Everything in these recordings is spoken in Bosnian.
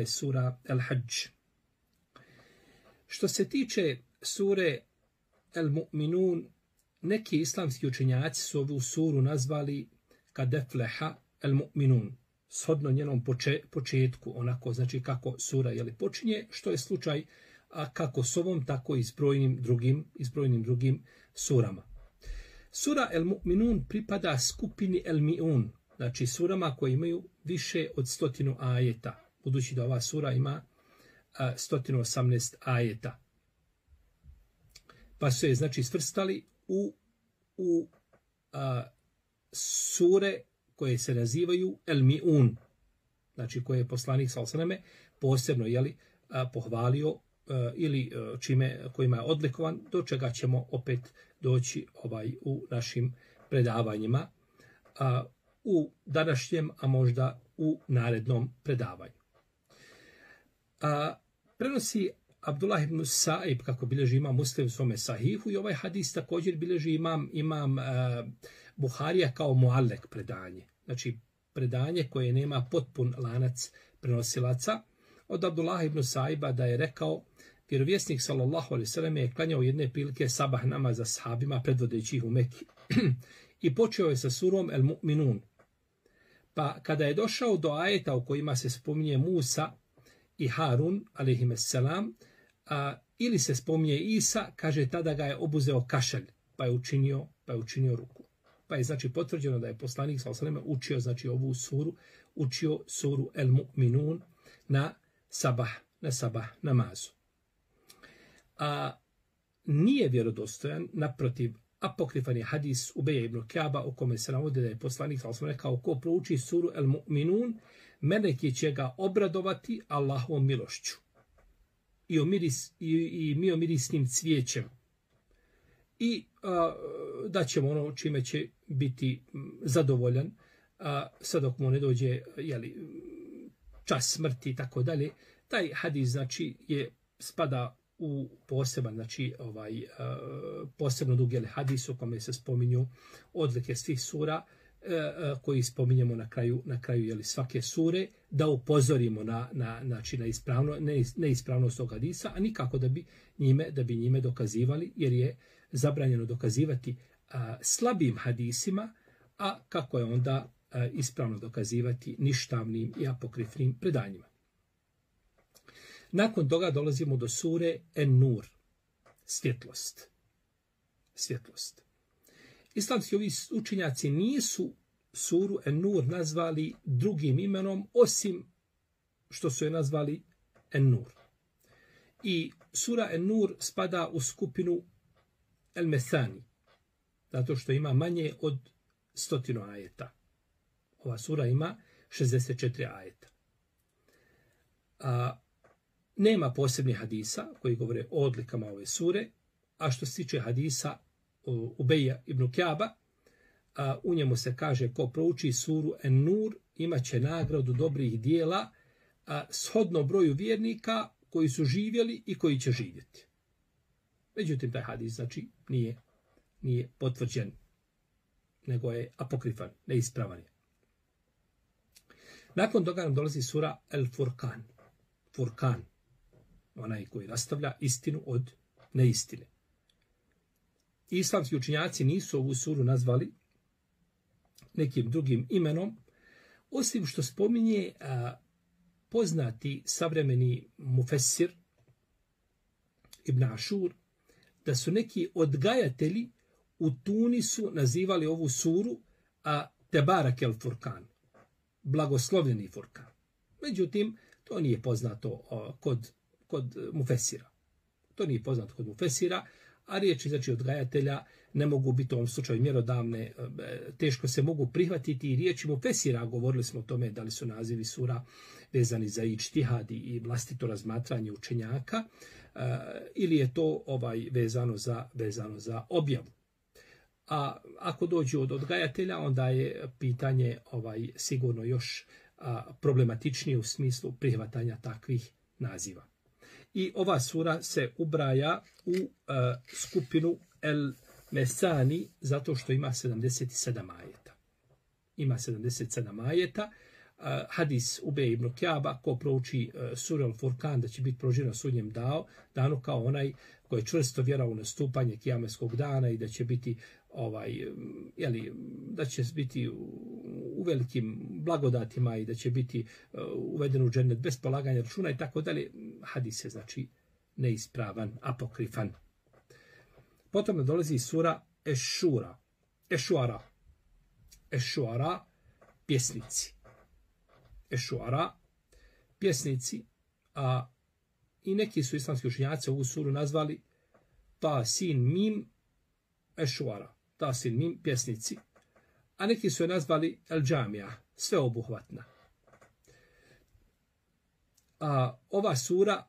sura El-Hadž. Što se tiče sure El-Mu'minun, neki islamski učenjaci su ovu suru nazvali kad efleha El-Mu'minun, shodno njenom početku, onako znači kako sura počinje, što je slučaj kako s ovom, tako i s brojnim drugim surama. Sura El-Mu'minun pripada skupini El-Mi'un, znači surama koje imaju više od 100 ajeta, budući da ova sura ima 118 ajeta. Pa su je znači svrstali u sure koje se nazivaju El-Mi'un, znači koje je poslanik sallallahu alejhi ve selleme posebno pohvalio ili kojima je odlikovan, do čega ćemo opet doći u našim predavanjima u današnjem, a možda u narednom predavanju. Prenosi Abdullah ibn Sa'ib, kako bilježi imam Muslim u svome sahihu, i ovaj hadis također bilježi imam Buharija kao muallek predanje. Znači predanje koje nema potpun lanac prenosilaca. Od Abdullah ibn Sa'iba da je rekao, vjerovjesnik sallallahu alejhi ve selleme je klanjao jedne prilike sabah namaz za sahabima predvodeći ih u Meki. I počeo je sa surom El-Mu'minun. Pa kada je došao do ajeta u kojima se spominje Musa i Harun, alejhimusselam, ili se spominje Isa, kaže tada ga je obuzeo kašalj, pa je učinio ruku. Pa je znači potvrđeno da je poslanik sallallahu alejhi ve selleme učio znači ovu suru, učio suru El-Mu'minun na sabah namazu. Nije vjerodostojan, naprotiv, apokrifan je hadis Ubeja ibn Ka'ba u kome se navodi da je poslanik sallallahu alejhi ve selleme rekao, ko prouči suru El-Mu'minun, meleki će ga obradovati Allahovom milošću i mirisnim cvijećem i da ćemo ono čime će biti zadovoljan sad dok mu ne dođe čas smrti i tako dalje. Taj hadis znači spada u poseban, znači posebno dugi hadis u kome se spominju odlike svih sura koji spominjemo na kraju svake sure, da upozorimo na neispravnost tog hadisa, a nikako da bi njime dokazivali, jer je zabranjeno dokazivati slabim hadisima, a kako je onda ispravno dokazivati ništavnim i apokrifnim predanjima. Nakon toga dolazimo do sure En-Nur, svjetlost. Islamski ovi učenjaci nisu suru En-Nur nazvali drugim imenom, osim što su je nazvali En-Nur. I sura En-Nur spada u skupinu El-Mesani, zato što ima manje od 100 ajeta. Ova sura ima 64 ajeta. Nema posebnih hadisa koji govore o odlikama ove sure, a što se tiče hadisa Ubeja ibn Ka'ba, u njemu se kaže ko prouči suru En-Nur imat će nagradu dobrih dijela shodno broju vjernika koji su živjeli i koji će živjeti. Međutim, taj hadis znači nije potvrđen, nego je apokrifan, neispravan je. Nakon toga nam dolazi sura El-Furqan. Furqan, onaj koji rastavlja istinu od neistine. Islamski učenjaci nisu ovu suru nazvali nekim drugim imenom, osim što spominje poznati savremeni mufessir Ibn Ašur, da su neki odgajatelji u Tunisu nazivali ovu suru Tebarak el-Furqan, blagoslovljeni Furkan. Međutim, to nije poznato kod mufesira. A riječi znači odgajatelja ne mogu biti u ovom slučaju mjerodavne, teško se mogu prihvatiti i riječi mufesira, govorili smo o tome da li su nazivi sura vezani za ičtihad i vlastito razmatranje učenjaka, ili je to vezano za objavu. A ako dođu od odgajatelja, onda je pitanje sigurno još problematičnije u smislu prihvatanja takvih naziva. I ova sura se ubraja u skupinu El-Mesani zato što ima 77 ajeta. hadis Ubej ibn Kjaba, ko prouči suru Al-Furkan, da će biti proživen na sudnjem danu kao onaj koji je čvrsto vjerao u nastupanje kijameskog dana i da će biti da će biti u velikim blagodatima i da će biti uveden u džennet bez polaganja računa i tako dalje. Hadis je znači neispravan, apokrifan. Potom nam dolazi sura Eš-Šuara, pjesnici. Eš-Šuara, pjesnici, a i neki su islamski učenjaci ovu suru nazvali Ta Sin Mim Eš-Šuara, Ta Sin Mim, pjesnici, a neki su je nazvali El-Džamija, sveobuhvatna. Ova sura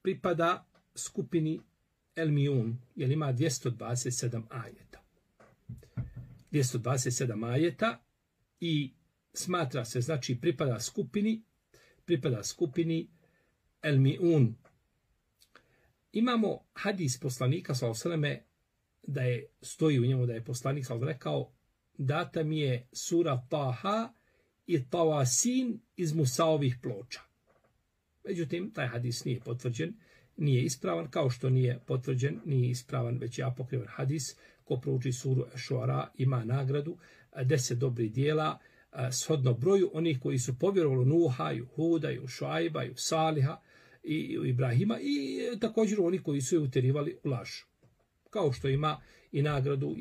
pripada skupini El-Miun, jer ima 227 ajeta. 227 ajeta i smatra se, znači, pripada skupini El-Miun. Imamo hadis poslanika, sallallahu alejhi ve selleme, da je, stoji u njemu da je poslanik sallallahu alejhi ve selleme rekao, data mi je sura Taha i Tawasin iz Musaovih ploča. Međutim, taj hadis nije potvrđen, nije ispravan, kao što nije potvrđen, nije ispravan, već je apokrifan hadis. Ko prouči suru Eš-Šuara ima nagradu 10 dobrih dijela, shodno broju onih koji su povjerovali Nuha, Huda, Šuajba, Saliha i Ibrahima i također oni koji su je utjerivali u laž. Kao što ima i nagradu,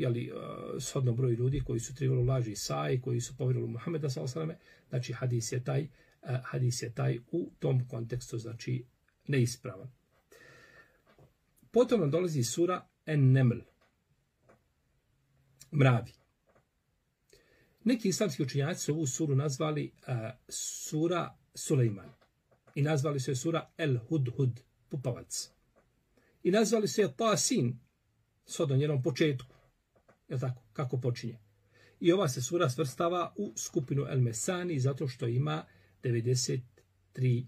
shodno broju ljudi koji su utjerivali u laž Isaji, koji su povjerovali Muhameda sallallahu alejhi ve selleme, znači hadis je taj u tom kontekstu, znači neispravan. Potom nam dolazi sura En-Neml, mravi. Neki islamski učenjaci su ovu suru nazvali sura Sulejman i nazvali su je sura El-Hudhud, pupavac. I nazvali su je Tasin, shodno njenom početku. Je tako? Kako počinje? I ova se sura svrstava u skupinu El-Mesani zato što ima 93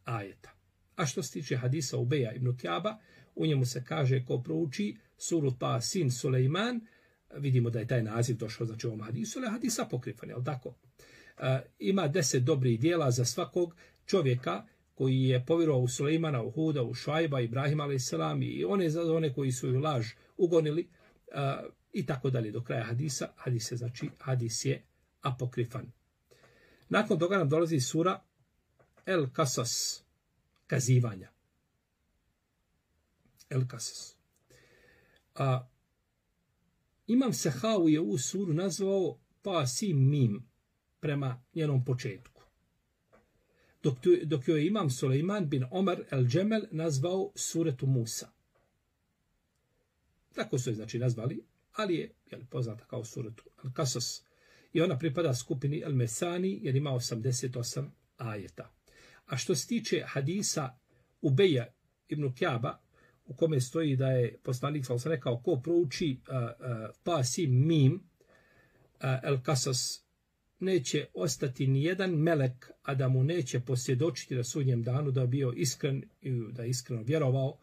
ajeta. A što se tiče hadisa Ubeja ibn Kjaba, u njemu se kaže ko prouči suru Tasin Sulejman, vidimo da je taj naziv došao znači ovom hadisu, ali hadis apokrifan, je li tako? Ima 10 dobrih dijela za svakog čovjeka koji je povjerovao u Sulejmana, u Huda, u Šuajba, Ibrahima a.s. i one koji su ju laž ugonili i tako dalje do kraja hadisa. Hadis je apokrifan. Nakon toga nam dolazi sura El-Kasas, kazivanja. El-Kasas. Imam Sehavu je ovu suru nazvao Tasim Mim prema njenom početku. Dok joj je Imam Sulejman bin Omar el-Džemel nazvao suretu Musa. Tako su je znači nazvali, ali je poznata kao suretu El-Kasas. I ona pripada skupini El-Mesani jer ima 88 ajeta. A što se tiče hadisa Ubeja ibn Kjaba, u kome stoji da je poslanik sallallahu alejhi ve sellem rekao ko prouči Tasim Mim El-Kasas neće ostati ni jedan melek, a da mu neće posvjedočiti na sudnjem danu da je bio iskren i da je iskreno vjerovao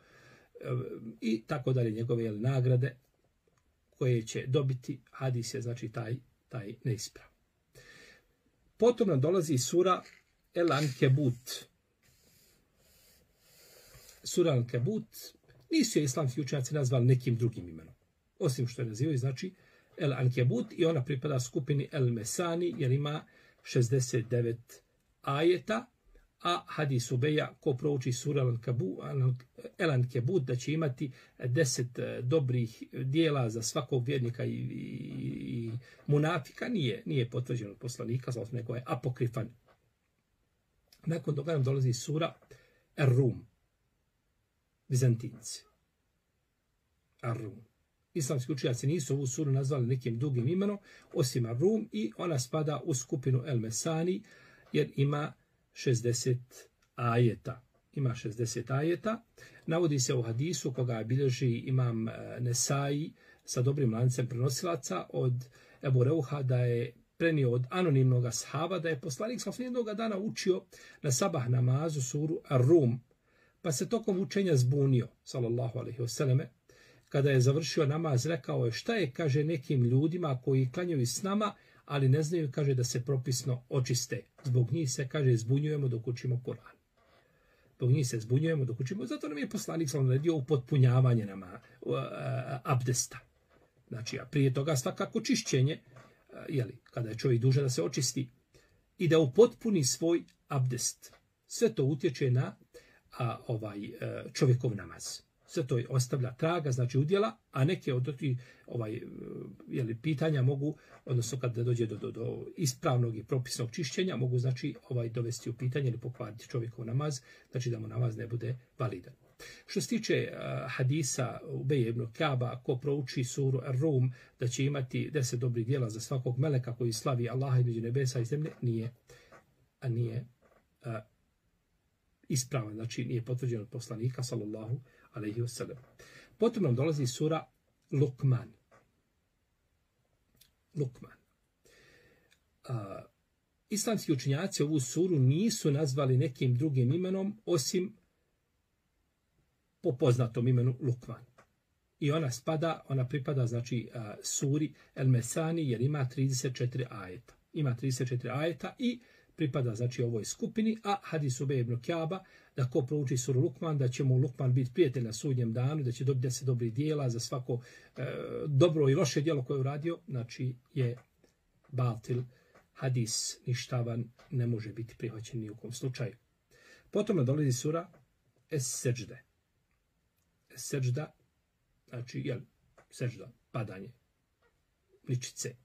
i tako dalje njegove nagrade koje će dobiti. Hadis je znači taj neispravan. Potom nam dolazi sura El-Ankebut. Sura Al-Ankebut nisu je islamski učenjaci nazvali nekim drugim imenom. Osim što je nazivaju, znači El-Ankebut i ona pripada skupini El-Mesani jer ima 69 ajeta, a hadis Ubeja ko prouči sura El-Ankebut da će imati 10 dobrih dijela za svakog vjernika i munafika nije potvrđeno od poslanika, nego je apokrifan. Nakon toga nam dolazi sura Er-Rum, Bizantinci. Ar-Rum. Islamski učenjaci nisu ovu suru nazvali nekim drugim imenom, osim Ar-Rum i ona spada u skupinu El-Mesani jer ima 60 ajeta. Ima 60 ajeta. Navodi se u hadisu koga bilježi imam Nesai sa dobrim lancem prenosilaca od Ebu Reuha da je prenio od anonimnog ashaba da je poslanik sa jednog dana učio na sabah namazu suru Ar-Rum. Pa se tokom učenja zbunio, sallallahu alejhi ve selleme, kada je završio namaz, rekao je šta je, kaže, nekim ljudima koji klanjaju s nama, ali ne znaju, kaže, da se propisno očiste. Zbog njih se, kaže, zbunjujemo dok učimo Kur'an. Zbog njih se zbunjujemo dok učimo. Zato nam je poslanik sallallahu alejhi ve sellem naredio upotpunjavanje abdesta. Znači, a prije toga svakako čišćenje, kada je čovjek dužan da se očisti i da upotpuni svoj abdest. Sve to utječe na čovjekov namaz. Sve to ostavlja traga, znači udjela, a neke od tih pitanja mogu, odnosno kada dođe do ispravnog i propisnog čišćenja, mogu znači dovesti u pitanje ili pokvariti čovjekov namaz, znači da mu namaz ne bude validan. Što se tiče hadisa Ubeja ibn Kaba, ko prouči suru Ar-Rum, da će imati 10 dobrih djela za svakog meleka koji slavi Allaha između nebesa i zemlje, nije ispravan, znači nije potvrđen od poslanika sallallahu alejhi ve sellem. Potom nam dolazi sura Lukman. Islamski učenjaci ovu suru nisu nazvali nekim drugim imenom osim po poznatom imenu Lukman. I ona pripada znači suri El Mesani jer ima 34 ajeta. Ima 34 ajeta i pripada znači ovoj skupini, a hadis Ubeja ibn Kaba da ko prouči suru Lukman, da će mu Lukman biti prijatelj na sudnjem danu, da će dobiti 10 dobrih dijela za svako dobro i loše djelo koje je uradio, znači je batil, hadis ništavan, ne može biti prihvaćen ni u kom slučaju. Potom dolazi sura Es-Seđde. Es-Seđda, znači seđda, padanje, ličice,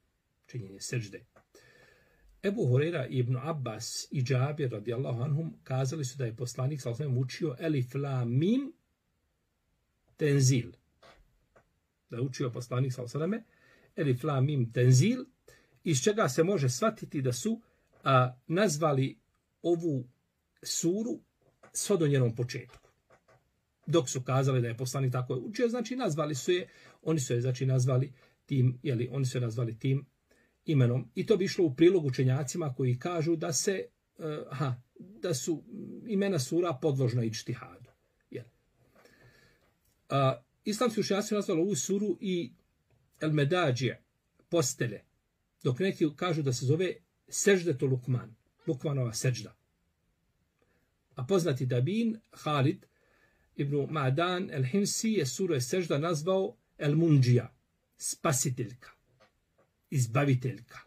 činjenje seđde. Ebu Hurajra i Ibn Abbas i Džabir radijallahu anhum kazali su da je poslanik sallallahu alejhi ve sellem učio Elif Lam Mim Tenzil. Da je učio poslanik sallallahu alejhi ve sellem Elif Lam Mim Tenzil, iz čega se može shvatiti da su nazvali ovu suru sve do njenom početku. Dok su kazali da je poslanik tako učio, znači nazvali su je, oni su je znači nazvali tim imenom. I to bi išlo u prilog učenjacima koji kažu da su imena sura podložna ičtihadu. Islamski učenjaci su nazvali ovu suru i El Medađije, postelje, dok neki kažu da se zove Seždetu Lukman, Lukmanova seđda. A poznati dabin Halid ibn Ma'dan el-Himsi je suru sežda nazvao El Mundžija, spasiteljka, izbaviteljka.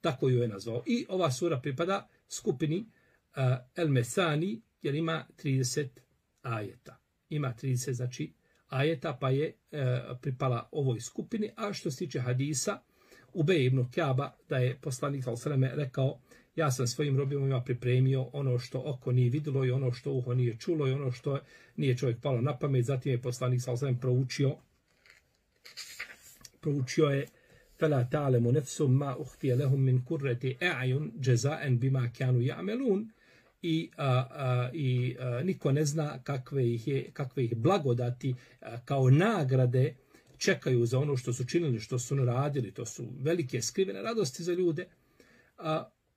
Tako ju je nazvao. I ova sura pripada skupini El Mesani, jer ima 30 ajeta. Ima 30, znači, ajeta, pa je pripala ovoj skupini. A što se tiče hadisa, Ubeja ibn Kaba, da je poslanik sallallahu alejhi ve sellem rekao: ja sam svojim robovima pripremio ono što oko nije vidjelo i ono što uho nije čulo i ono što nije čovjek palo na pamet. Zatim je poslanik sallallahu alejhi ve sellem proučio je فَلَا تَعْلَمُ نَفْسٌ مَا أُخْفِيَ لَهُم مِّن قُرَّةِ أَعْيُنٍ جَزَاءً بِمَا كَانُوا يَعْمَلُونَ. I niko ne zna kakve ih blagodati kao nagrade čekaju za ono što su činili, što su radili. To su velike skrivene radosti za ljude.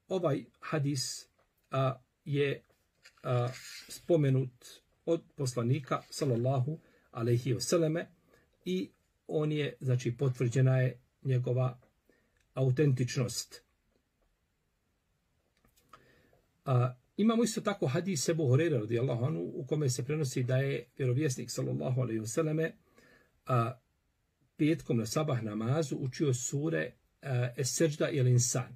Ovaj hadis je spomenut od poslanika sallallahu alejhi ve selleme i on je, znači, potvrđena je njegova autentičnost. Imamo isto tako hadis Ebu Hurajre radijallahu anhu u kome se prenosi da je vjerovjesnik sallallahu alejhi ve selleme petkom na sabah namazu učio sure Es-Seđda i El-Insan.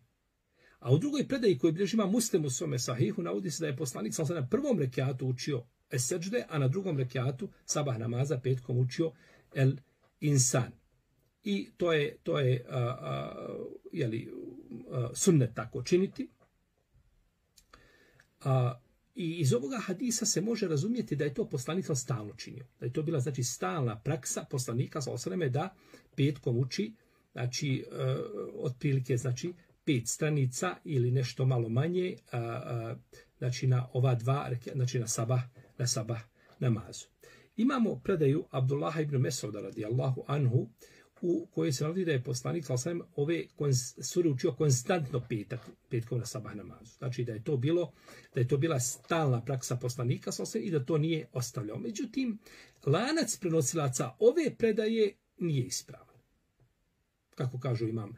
A u drugoj predaji koju bilježi ima Muslim u svome sahihu navodi se da je poslanik sallallahu alejhi ve sellem na prvom rekjatu učio Es-Seđde, a na drugom rekjatu sabah namaza petkom učio El-Insan. I to je sunnet tako činiti. I iz ovoga hadisa se može razumjeti da je to poslanik stalno činio. Da je to bila, znači, stalna praksa poslanika sallallahu alejhi ve selleme da petkom uči, znači, otprilike, znači, 5 stranica ili nešto malo manje, znači na ova dva, znači na sabah namazu. Imamo predaju Abdullaha ibn Mesauda radijallahu anhu u kojoj se navodi da je poslanik sallallahu alejhi ve sellem ove sure učio konstantno petkom na sabah namazu. Znači da je to bila stalna praksa poslanika sallallahu alejhi ve sellem i da to nije ostavljao. Međutim, lanac prenosilaca ove predaje nije ispravan. kako kažu imam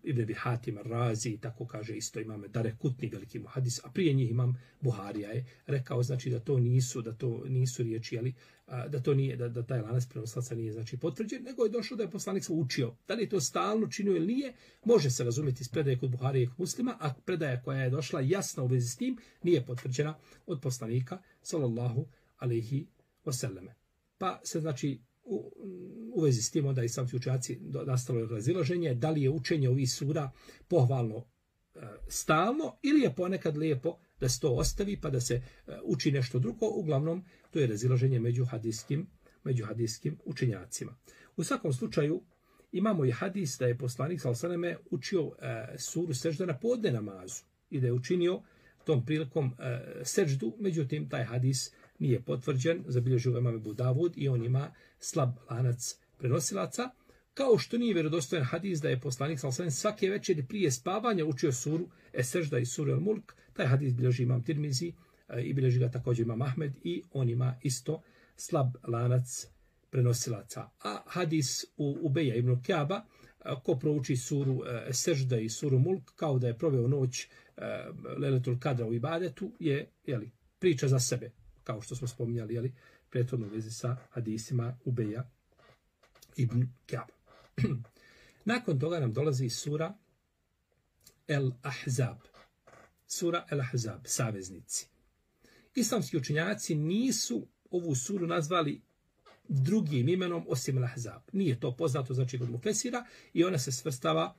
Ibn Abi Hatim Razi, tako kaže isto imam Darekutni, veliki muhadis, a prije njih imam Buharija je rekao, znači da to nisu riječi, ali da to nije, da taj lanac prenosilaca nije znači potvrđen, nego je došlo da je poslanik se učio. Da li je to stalno činio ili nije, može se razumjeti iz predaje kod Buharije i kod Muslima, a predaja koja je došla jasna u vezi s tim nije potvrđena od poslanika sallallahu alejhi ve selleme. Pa se znači u vezi s tim onda islamski učenjaci nastalo razilaženje da li je učenje ovih sura pohvalno stalno ili je ponekad lijepo da se to ostavi pa da se uči nešto drugo. Uglavnom to je razilaženje među hadijskim učenjacima. U svakom slučaju imamo i hadis da je poslanik sallallahu alejhi ve selleme učio suru sežda na podne namazu i da je učinio tom prilikom seždu, međutim taj hadis nije potvrđen, zabilježio ga imam Ebu Davud i on ima slab lanac prenosilaca, kao što nije vjerodostojan hadis da je poslanik sallallahu alejhi ve sellem svake večeri prije spavanja učio suru Es-Sežda i suru El-Mulk. Taj hadis bilježi imam Tirmizi i bilježi ga također imam Ahmed i on ima isto slab lanac prenosilaca. A hadis u Ubeja ibn Kjaba, ko prouči suru Es-Sežda i suru Mulk kao da je proveo noć Lejletul Kadra u ibadetu je priča za sebe, kao što smo spominjali prethodno u vezi sa hadisima Ubeja ibn Kjaba. Nakon toga nam dolazi sura El-Ahzab. Sura El-Ahzab, saveznici. Islamski učenjaci nisu ovu suru nazvali drugim imenom osim El-Ahzab. Nije to poznato znači kod Mufesira i ona se svrstava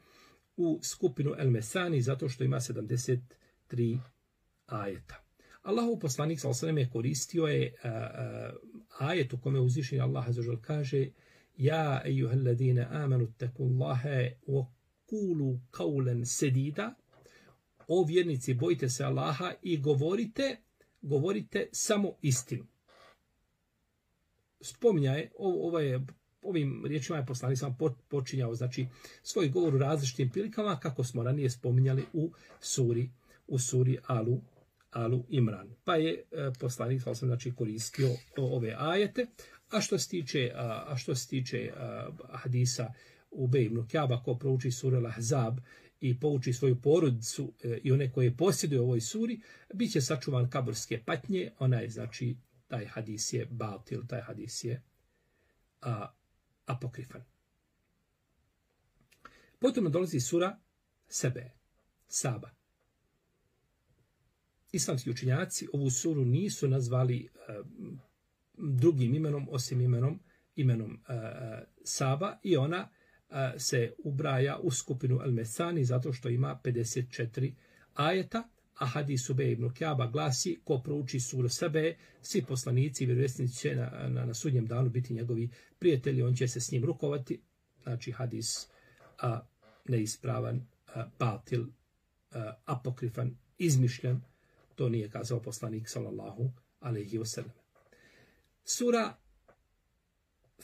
u skupinu El-Mesani zato što ima 73 ajeta. Allahov poslanik sallallahu alejhi ve sellem koristio je ajet u kome uzvišeni Allah azza wa kaže: Ja ejuhalladine amanu taqullaha wa qulu qawlan sadida. O vjernici, bojite se Allaha i govorite samo istinu. Spominjaje, ovim riječima je poslanik sam počinjao znači svoj govor u različitim prilikama, kako smo ranije spominjali u suri Alu Imran. Pa je poslanik znači koristio ove ajete. A što se tiče hadisa Ubej ibn Kjaba, ko prouči suru Al-Ahzab i pouči svoju porodicu i one koje posjeduju u ovoj suri, bit će sačuvan kaburske patnje. Znači, taj hadis je batil, taj hadis je apokrifan. Potom dolazi sura Saba. Islamski učenjaci ovu suru nisu nazvali drugim imenom osim imenom Saba i ona se ubraja u skupinu El-Mesani zato što ima 54 ajeta, a hadis Ubej ibn Kjaba glasi: ko prouči suru Sebe, svi poslanici i vjerovjesnici će na sudnjem danu biti njegovi prijatelji, on će se s njim rukovati. Znači hadis neispravan, batil, apokrifan, izmišljen. To nije kazao poslanik sallallahu alejhi ve sellem. Sura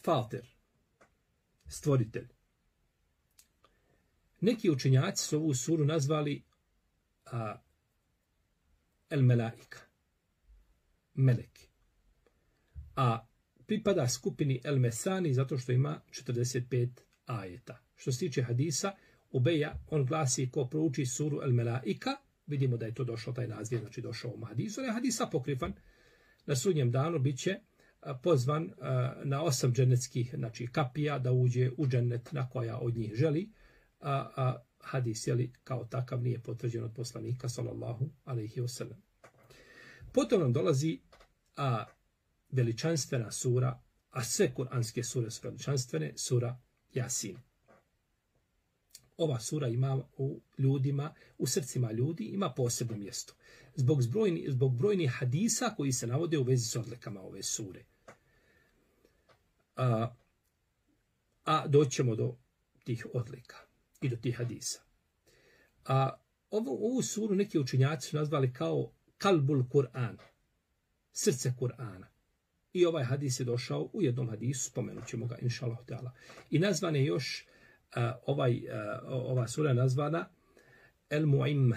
Fatir, stvoritelj. Neki učenjaci su ovu suru nazvali El Melaika, meleki. A pripada skupini El Mesani zato što ima 45 ajeta. Što se tiče hadisa Ubeja, on glasi: ko prouči suru El Melaika, vidimo da je to došlo, taj naziv znači došao u hadisu, je hadis apokrifan, na sudnjem danu biće pozvan na 8 dženetskih znači kapija da uđe u džennet na koja od njih želi, a hadis kao takav nije potvrđen od poslanika sallallahu alejhi ve sellem. Potom nam dolazi veličanstvena sura, a sve kuranske sure su veličanstvene, sura Jasin. Ova sura ima u ljudima, u srcima ljudi ima posebno mjesto. Zbog brojnih hadisa koji se navode u vezi s odlikama ove sure. A doćemo do tih odlika i do tih hadisa. Ovu suru neki učenjaci su nazvali kao Kalbul Kur'an, srce Kur'ana. I ovaj hadis je došao u jednom hadisu, spomenut ćemo ga, inšallah ta'ala. I nazvan je još, ova sura je nazvana El Mu'im,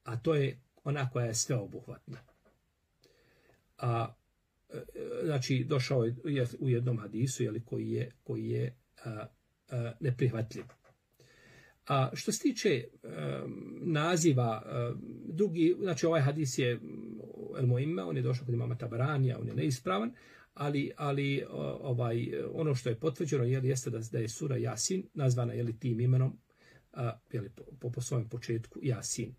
a to je ona koja je sveobuhvatna. Znači, došao je u jednom hadisu koji je neprihvatljiv. A što se tiče naziva, drugi, znači ovaj hadis je El Muimma, on je došao kod imama Tabaranija, on je neispravan, ali ono što je potvrđeno jeste da je sura Jasin nazvana tim imenom po svojem početku Jasin.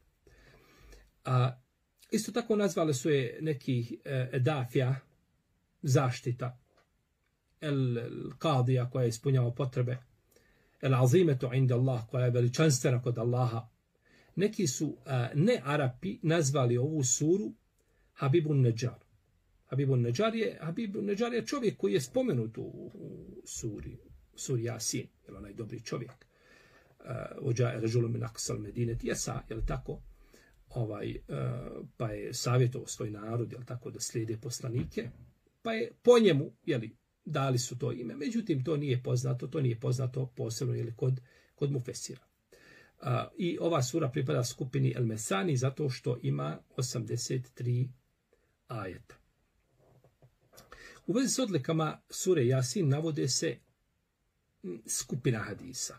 Isto tako nazvali su je neki Dafija, zaštita, El Qadija koja je ispunjava potrebe, El Azimetu inda Allah koja je veličanstvena kod Allaha. Neki su ne Arapi nazvali ovu suru Habibun Neđar. Habibun Neđar je čovjek koji je spomenut u suri Jasin, je onaj dobri čovjek. Ođaje režulu min aksal medine tijesa, je li tako? Pa je savjetovao svoj narod, je li tako, da slijede poslanike, pa je po njemu, je li, dali su to ime. Međutim, to nije poznato posebno, je li, kod mufesira. I ova sura pripada skupini El Mesani zato što ima 83 ajeta. U vezi s odlikama sure Jasin navode se skupina hadisa.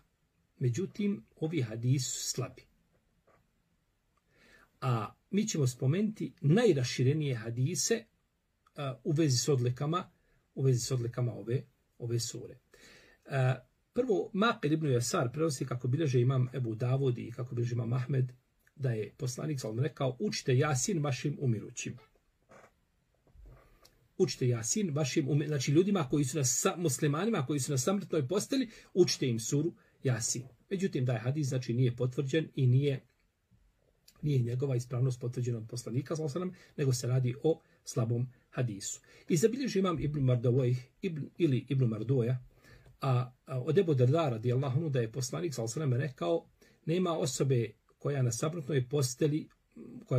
Međutim, ovi hadisi su slabi. A mi ćemo spomenuti najraširenije hadise u vezi s odlikama ove sure. Prvo, Maqil ibn Yasar prenosi kako bilježe imam Ebu Davud i kako bilježe imam Ahmed, da je poslanik sallallahu rekao: učite Jasin vašim umirućim. Učite Jasin vašim umirućim. Znači ljudima koji su muslimanima koji su na samrtnoj posteli, učite im suru Jasin. Međutim, da je hadis znači nije potvrđen i nije njegova ispravnost potvrđena od poslanika sallallahu alejhi ve sellem, nego se radi o slabom hadisu. I zabilježi imam Ibn Mardawayh ili Ibn Marduja, od Ebu Darda radijallahu anhu da je poslanik sallallahu alejhi ve sellem rekao: nema osobe koja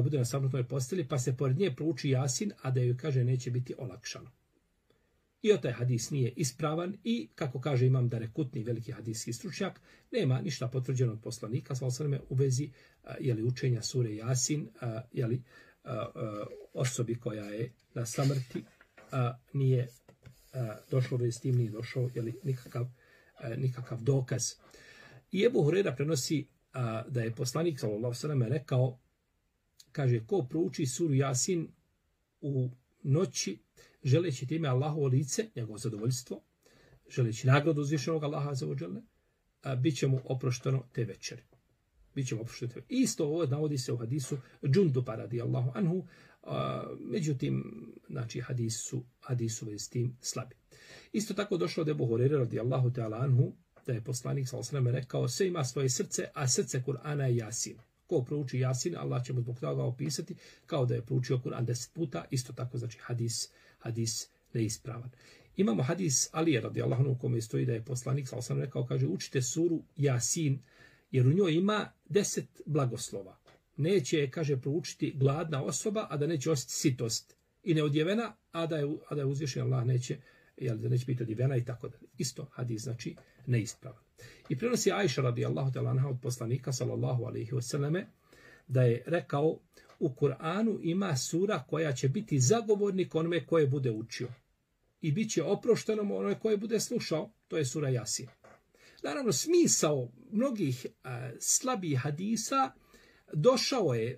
bude na samrtnoj posteli pa se pored nje prouči Jasin, a da joj kaže neće biti olakšano. I taj hadis nije ispravan i, kako kaže imam Darekutni, veliki hadijski stručnjak, nema ništa potvrđeno od poslanika sallallahu alejhi ve sellem u vezi učenja sure Jasin, osobi koja je na samrti, nije došlo s tim, nije došao nikakav dokaz. I Ebu Hurajra prenosi da je poslanik sallallahu alejhi ve sellem rekao, kaže: ko prouči suru Jasin u noći, želeći time Allahovo lice, njegovo zadovoljstvo, želeći nagradu uzvišenog Allaha azza wa jalla, bit će mu oprošteno te večeri. Isto ovo navodi se u hadisu Džunduba radijallahu anhu, međutim, znači hadisu s tim slabi. Isto tako došlo od Ebu Hurajre radijallahu ta'ala anhu, da je poslanik sallallahu alejhi ve sellem rekao: sve ima svoje srce, a srce Kur'ana je Jasin. Ko prouči Jasin, Allah će mu zbog toga opisati kao da je proučio Kur'an 10 puta. Isto tako, znači hadis neispravan. Imamo hadis Alije radijallahu anhu u kome stoji da je poslanik sallallahu alejhi ve sellem rekao, kaže: učite suru Jasin, jer u njoj ima 10 blagoslova. Neće, kaže, proučiti gladna osoba, a da neće osjetiti sitost, i neodjevena, a da je uzvišen Allah da neće biti odjevena i tako dalje. Isto hadis, znači neispravan. I prenosi Ajša radijallahu ta'ala anha od poslanika sallallahu alejhi ve selleme da je rekao: u Kur'anu ima sura koja će biti zagovornik onome koje bude učio i bit će oprošteno onome koje bude slušao, to je sura Jasin. Naravno, smisao mnogih slabih hadisa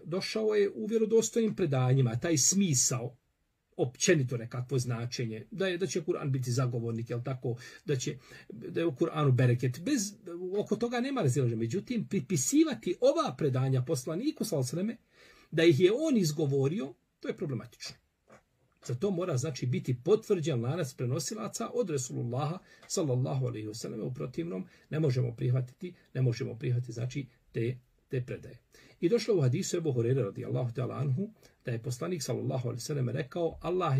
došao je u vjerodostojnim predanjima, taj smisao, općenito nekakvo značenje, da će Kur'an biti zagovornik, jel tako, da je u Kur'anu bereket. Oko toga nema razilaženja. Međutim, pripisivati ova predanja poslaniku sallallahu alejhi ve selleme, da ih je on izgovorio, to je problematično. Zato mora, znači, biti potvrđen lanac prenosilaca od Resulullaha sallallahu alejhi ve selleme. U protivnom ne možemo prihvatiti znači te predaje. I došlo u hadisu Ebu Hurajre radijallahu ta'ala anhu da je poslanik sallallahu alejhi ve selleme rekao: Allah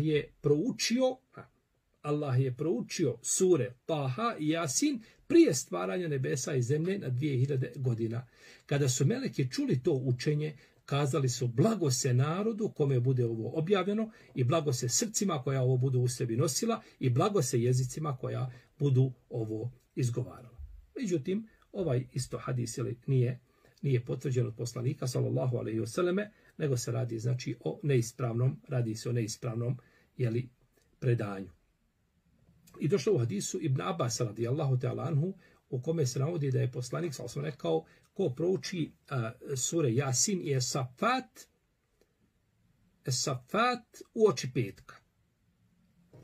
je proučio sure Taha i Jasin prije stvaranja nebesa i zemlje na 2000 godina. Kada su meleki čuli to učenje, kazali su: blago se narodu kome bude ovo objavljeno, i blago se srcima koja ovo budu u sebi nosila, i blago se jezicima koja budu ovo izgovarala. Međutim, ovaj isto hadis nije potvrđen od poslanika sallallahu alejhi ve selleme, nego se radi, znači, o neispravnom predanju. I došlo u hadisu Ibn Abbas radijallahu ta'ala anhu u kome se navodi da je poslanik sallallahu alejhi ve sellem rekao ko prouči sure Jasin i Safat uoči petka,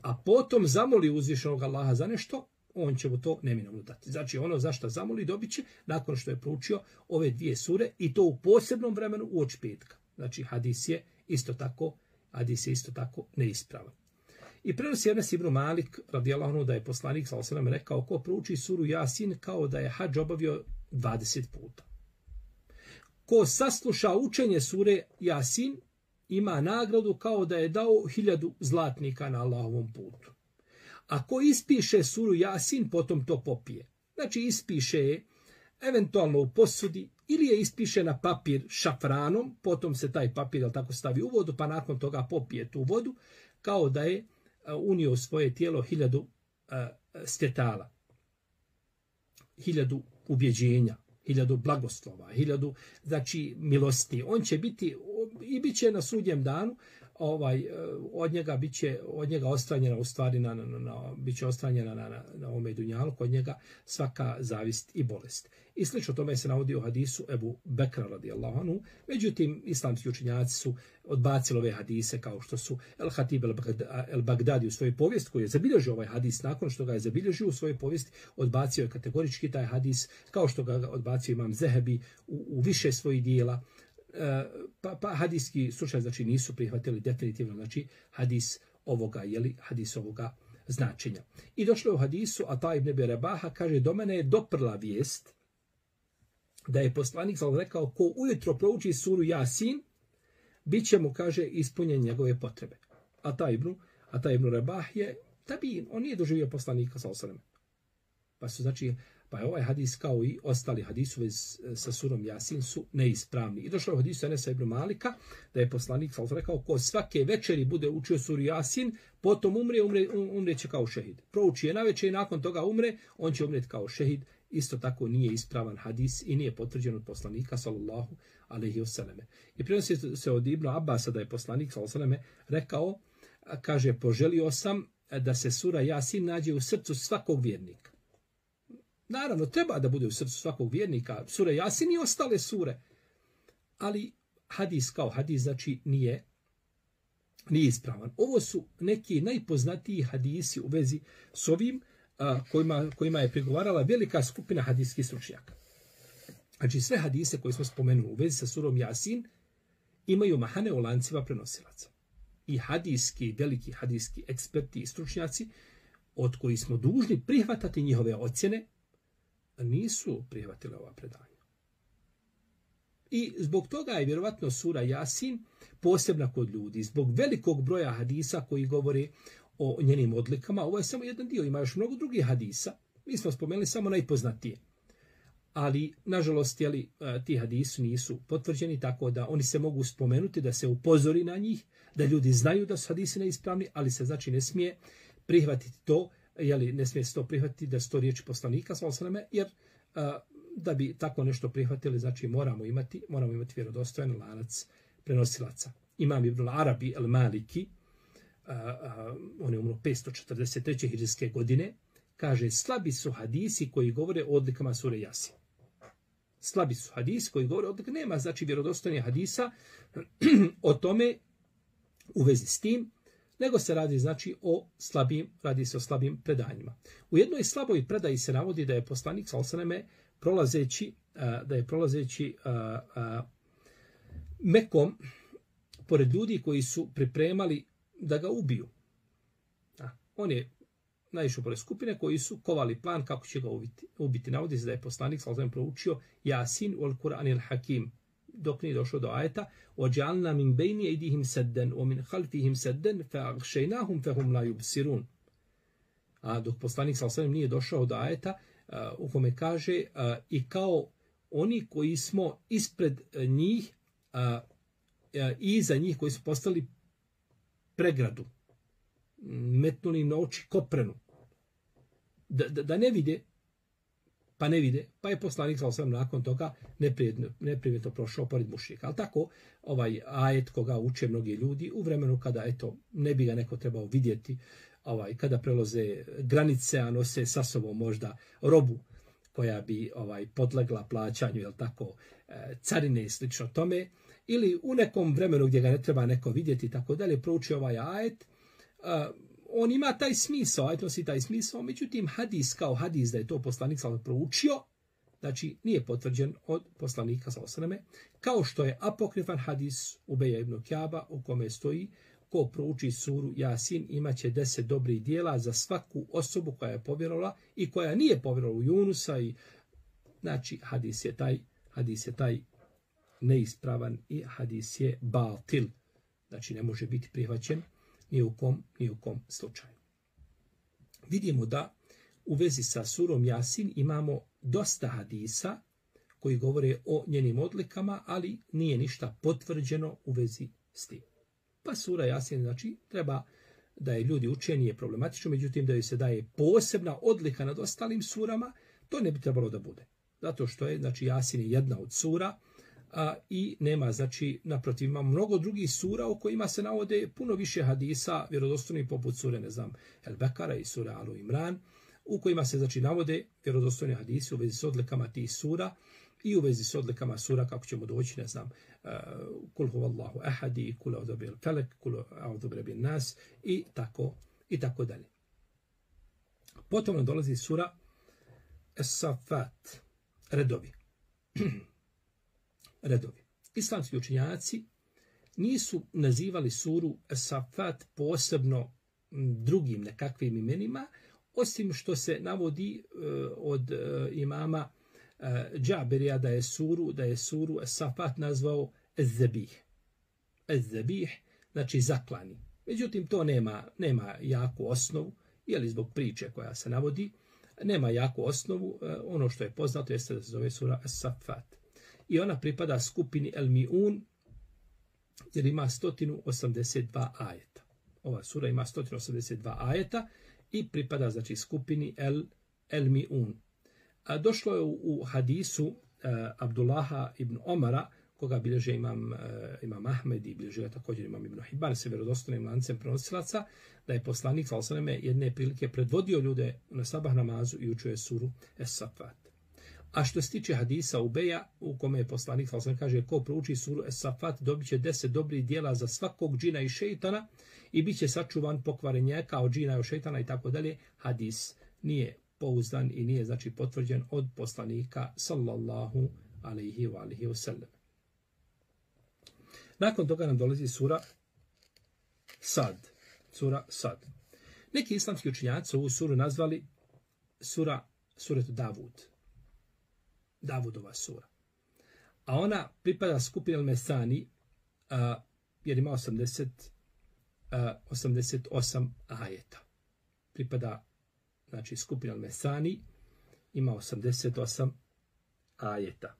a potom zamoli uzvišenog Allaha za nešto, on će mu to neminovno dati. Znači ono za što zamoli dobit će nakon što je proučio ove dvije sure i to u posebnom vremenu uoči petka. Znači hadis je isto tako neispravan. I prenosi Enes ibn Malik radijallahu anhu da je poslanik sallallahu alejhi ve sellem rekao ko prouči suru Jasin kao da je hadž obavio 20 puta. Ko sasluša učenje sure Jasin ima nagradu kao da je dao 1000 zlatnika na Allahovom putu. Ako ispiše suru Jasin, potom to popije. Znači ispiše je eventualno u posudi ili je ispiše na papir šafranom, potom se taj papir tako stavi u vodu, pa nakon toga popije tu vodu, kao da je unio u svoje tijelo 1000 svjetala, 1000 ubjeđenja, 1000 blagoslova, 1000 znači milosti. On će biti i bit će na sudnjem danu od njega ostranjena u stvari biće ostranjena na ovome dunjalu, kod njega svaka zavist i bolest. I slično tome se navodi u hadisu Ebu Bekra radijallahu anhu. Međutim, islamski učenjaci su odbacili ove hadise kao što su El-Hatib el-Bagdadi u svojoj povijesti koji je zabilježio ovaj hadis nakon što ga je zabilježio u svojoj povijesti, odbacio je kategorički taj hadis kao što ga odbacio Imam Zehebi u više svojih dijela. Pa hadijski slučaj znači nisu prihvatili definitivno znači hadis ovoga značenja. I došlo je u hadisu Ata ibn Abi Rabaha, kaže do mene je doprla vijest da je poslanik rekao ko ujutro prouči suru Jasin bit će mu, kaže, ispunjen njegove potrebe. Ata ibn Rabah je tabin, on nije doživio poslanika sallallahu alejhi ve sellem. Pa je ovaj hadis kao i ostali hadisi sa surom Jasin su neispravni. I došlo je u hadisu Enesa ibn Malika da je poslanik rekao ko svake večeri bude učio suru Jasin, potom umreće kao šehid. Prouči je navečer i nakon toga umre, on će umreti kao šehid. Isto tako nije ispravan hadis i nije potvrđen od poslanika sallallahu alejhi ve selleme. I prenosi se od Ibn Abasa da je poslanik sallallahu alejhi ve selleme rekao, kaže, poželio sam da se sura Jasin nađe u srcu svakog vjernika. Naravno, treba da bude u srcu svakog vjernika sura Jasin i ostale sure. Ali hadis kao hadis znači nije ispravan. Ovo su neki najpoznatiji hadisi u vezi s ovim kojima je prigovarala velika skupina hadijskih stručnjaka. Znači sve hadise koje smo spomenuli u vezi sa surom Jasin imaju mahane u lancima prenosilaca. I veliki hadijski eksperti i stručnjaci od kojih smo dužni prihvatati njihove ocjene nisu prihvatili ova predanja. I zbog toga je vjerovatno sura Jasin posebna kod ljudi. Zbog velikog broja hadisa koji govore o njenim odlikama, ovo je samo jedan dio, ima još mnogo drugih hadisa. Mi smo spomenuli samo najpoznatije. Ali, nažalost, ti hadisi nisu potvrđeni, tako da oni se mogu spomenuti, da se upozori na njih, da ljudi znaju da su hadisi neispravni, ali se znači ne smije prihvatiti to, ne smije se to prihvatiti da su to riječi poslanika, jer da bi tako nešto prihvatili, znači moramo imati vjerodostojan lanac prenosilaca. Imam Ibn Arabi el-Maliki, on je umro 543. hidžrijske godine, kaže, slabi su hadisi koji govore o odlikama sure Jasin. Slabi su hadisi koji govore o odlikama, nema znači vjerodostojnih hadisa o tome u vezi s tim, nego se radi znači radi se o slabim predanjima. U jednoj slaboj predaji se navodi da je poslanik sallallahu alejhi ve selleme prolazeći Mekom pored ljudi koji su pripremali da ga ubiju. On je naišao pored skupine koji su kovali plan kako će ga ubiti. Navodi se da je poslanik sallallahu alejhi ve sellem proučio Jasin wal Qur'anil Hakim dok nije došlo do ajeta وَجَعَلْنَا مِنْ بَيْنِ أَيْدِيهِمْ سَدًّا وَمِنْ خَلْفِهِمْ سَدًّا فَأَغْشَيْنَاهُمْ فَهُمْ لَا يُبْصِرُونَ. A dok poslanik sallallahu alejhi ve sellem nije došao do ajeta u kome kaže i kao oni koji smo ispred njih i iza njih koji su postali pregradu, metnuli na oči koprenu, da ne vide, pa je poslanik sallallahu alejhi ve sellem nakon toga neprijavno prošao pored mušrika. Ali tako, ovaj ajet koga uče mnogi ljudi u vremenu kada ne bi ga neko trebao vidjeti, kada prelaze granice, a nose sa sobom možda robu koja bi podlegla plaćanju, jel tako, carine i slično tome, ili u nekom vremenu gdje ga ne treba neko vidjeti i tako dalje, prouči ovaj ajet, on ima taj smisao, ajet nosi taj smisao, međutim hadis kao hadis da je to poslanik sallallahu proučio, znači nije potvrđen od poslanika sallallahu alejhi ve selleme, kao što je apokrifan hadis Ubeja ibn Kjaba u kome stoji ko prouči suru Jasin imaće 10 dobrih djela za svaku osobu koja je povjerovala i koja nije povjerovala u Junusa. I znači hadis je taj neispravan i hadis je batil. Znači ne može biti prihvaćen ni u kom slučaju. Vidimo da u vezi sa surom Jasin imamo dosta hadisa koji govore o njenim odlikama, ali nije ništa potvrđeno u vezi s tim. Pa sura Jasin, znači, treba da je ljudi uče, nije problematično, međutim da joj se daje posebna odlika nad ostalim surama, to ne bi trebalo da bude. Zato što je, znači, Jasin je jedna od sura i nema, znači, naprotiv, ima mnogo drugih sura u kojima se navode puno više hadisa, vjerodostojnih poput sure, ne znam, El Bekara i sure Alu Imran, u kojima se, znači, navode vjerodostojni hadisi u vezi s odlikama tih sura i u vezi s odlikama sura, kako ćemo doći, ne znam, kul huvallahu ahadi, kul a'udhu bil falak, kul a'udhu birabbin nas i tako dalje. Potom nam dolazi sura Es-Safat, redovi. Redovi. Islamski učenjaci nisu nazivali suru Es-Safat posebno drugim nekakvim imenima, osim što se navodi od imama Džaberija da je suru Es-Safat nazvao Ez-Zabih. Ez-Zabih, znači zaklani. Međutim, to nema jaku osnovu, jeli zbog priče koja se navodi, nema jaku osnovu. Ono što je poznato jeste da se zove sura Es-Safat. I ona pripada skupini El-Mi'un, jer ima 182 ajeta. Ova sura ima 182 ajeta i pripada, znači, skupini El-Mi'un. Došlo je u hadisu Abdullaha ibn Omara, koga bilježe imam Ahmed i bilježe također imam Ibn Hibban se vjerodostojnim lancem prenosilaca, da je poslanik sallallahu alejhi ve selleme jedne prilike predvodio ljude na sabah namazu i učio je suru Es-Safat. A što se tiče hadisa Ubeja, u kome je poslanik sallallahu alejhi ve selleme kaže ko prouči suru Es-Safat dobiće 10 dobrih djela za svakog džina i šejtana i biće sačuvan pokvarenjaka od džina i šejtana i tako dalje, hadis nije pouzdan i nije, znači, potvrđen od poslanika sallallahu alejhi ve sellem. Nakon toga nam dolazi sura Sad. Sura Sad. Neki islamski učenjaci ovu suru nazvali suretu Davud. Davudova sura. A ona pripada skupini Al-Mesani, jer ima 88 ajeta. Pripada, znači, skupina Al-Mesani, ima 88 ajeta.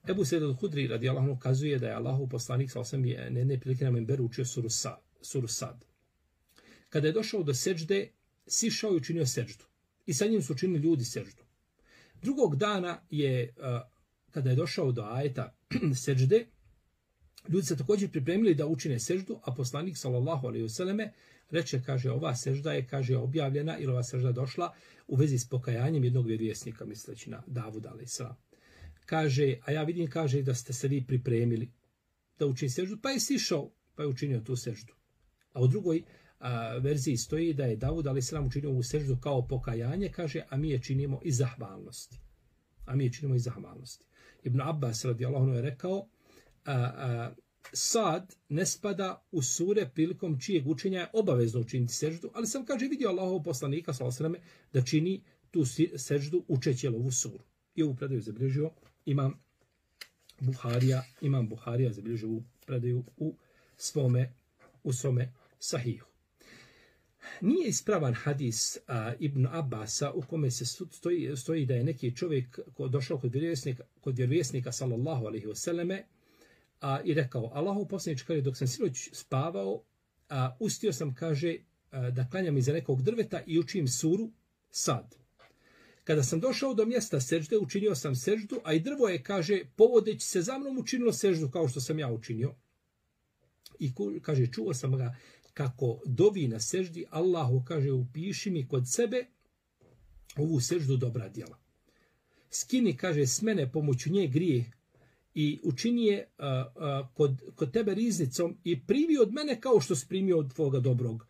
Ebu Sejid al-Hudri radijallahu anhu kazuje da je Allahu poslanik sallallahu alejhi ve sellem na jedne prilike na menberu učio suru Sad. Kada je došao do seđde, sišao i učinio seđdu. I sa njim su učinili ljudi seđdu. Drugog dana je, kada je došao do ajeta seđde, ljudi se također pripremili da učine seđdu, a poslanik sallallahu alejhi ve selleme reče, kaže, ova sežda je, kaže, objavljena ili ova sežda došla u vezi s pokajanjem jednog vjerovjesnika, misleći na Davuda alejselam. Kaže, a ja vidim, kaže, da ste se vi pripremili da učini seždu, pa je sišao, pa je učinio tu seždu. A u drugoj verziji stoji da je Davud alejselam učinio ovu seždu kao pokajanje, kaže, a mi je činimo iz zahvalnosti. Ibn Abbas radijallahu anhu je rekao, Sad ne spada u sure prilikom čijeg učenja je obavezno učiniti seždu, ali sam, kaže, vidio Allahov poslanika sallallahu alejhi ve selleme da čini tu seždu učeći ovu suru. I ovu predaju zabilježio imam Buharija zabilježio ovu predaju u svome sahihu. Nije ispravan hadis Ibn Abbasa u kome se stoji da je neki čovjek došao kod vjerovjesnika sallallahu alejhi ve selleme i rekao, Allahov poslaniče, kaže, dok sam sinoć spavao, ustio sam, kaže, da klanjam iza nekog drveta i učim suru Sad. Kada sam došao do mjesta sežde, učinio sam seždu, a i drvo je, kaže, povodeći se za mnom učinilo seždu kao što sam ja učinio. I, kaže, čuo sam ga kako dovi na seždi, Allahu, kaže, upiši mi kod sebe ovu seždu dobra djela. skini, kaže, s mene pomoću nje grijeh i učini je kod tebe riznicom i primi od mene kao što si primio od tvoga dobrog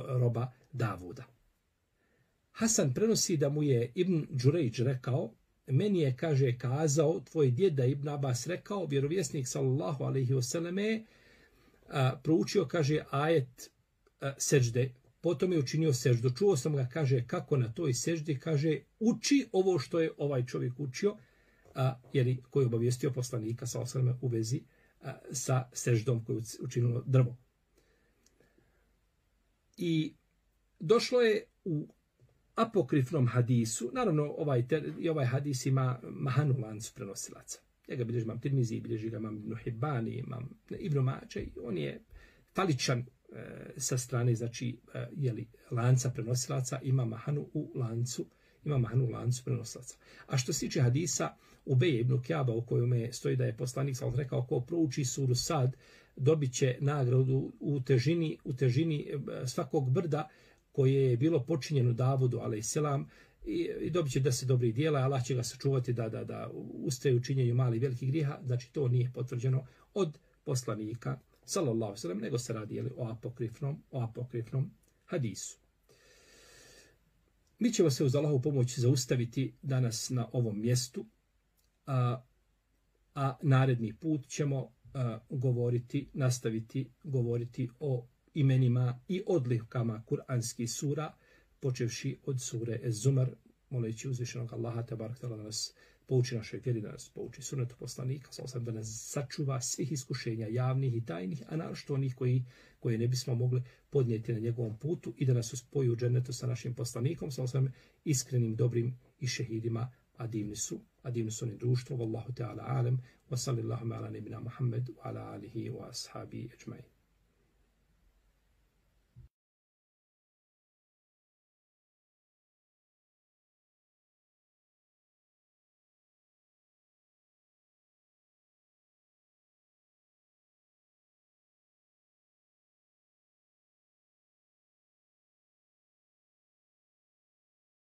roba Davuda. Hasan prenosi da mu je Ibn Đurejđ rekao, meni je, kaže, kazao tvoj djeda Ibn Abbas rekao, vjerovjesnik sallallahu alejhi ve selleme proučio, kaže, ajet sežde, potom je učinio seždu. Čuo sam ga, kaže, kako na toj seždi, kaže, uči ovo što je ovaj čovjek učio, koji je obavijestio poslanika sallallahu alejhi ve selleme u vezi sa seždom koju učinilo drvo. I došlo je u apokrifnom hadisu, naravno ovaj hadis ima mahanu lancu prenosilaca. Ja ga bilježi imam Tirmizi, bilježi ga imam Ibn Hibani, imam Ibn Mađe, on je faličan sa strane, znači, lanca prenosilaca, ima mahanu u lancu prenosilaca. A što se tiče hadisa Ubeje ibn Kjaba, u kojome stoji da je poslanik sallallahu alejhi ve sellem rekao, ko prouči suru Sad, dobit će nagradu u težini svakog brda koje je bilo počinjeno Davudu alejselam i dobit će 10 dobrih djela, Allah će ga sačuvati da ustaje u činjenju malih velikih grijeha. Znači to nije potvrđeno od poslanika sallallahu alejhi ve sellem, nego se radi o apokrifnom hadisu. Mi ćemo se uz Allahovu pomoć zaustaviti danas na ovom mjestu, a naredni put ćemo nastaviti govoriti o imenima i odlikama kuranskih sura, počevši od sure Ez-Zumar, moleći uzvišenog Allaha tebarek da nas pouči našoj vjeri, da nas pouči sunnetu poslanika, da nas sačuva svih iskušenja javnih i tajnih, a naročito onih koje ne bismo mogli podnijeti na njegovom putu i da nas uspoji u džennetu sa našim poslanikom, iskrenim, dobrim i šehidima, a divni su oni društvo. Wallahu ta'ala alam, wa sallallahu ala nebina Muhammed, wa ala alihi wa ashabi ajma'in.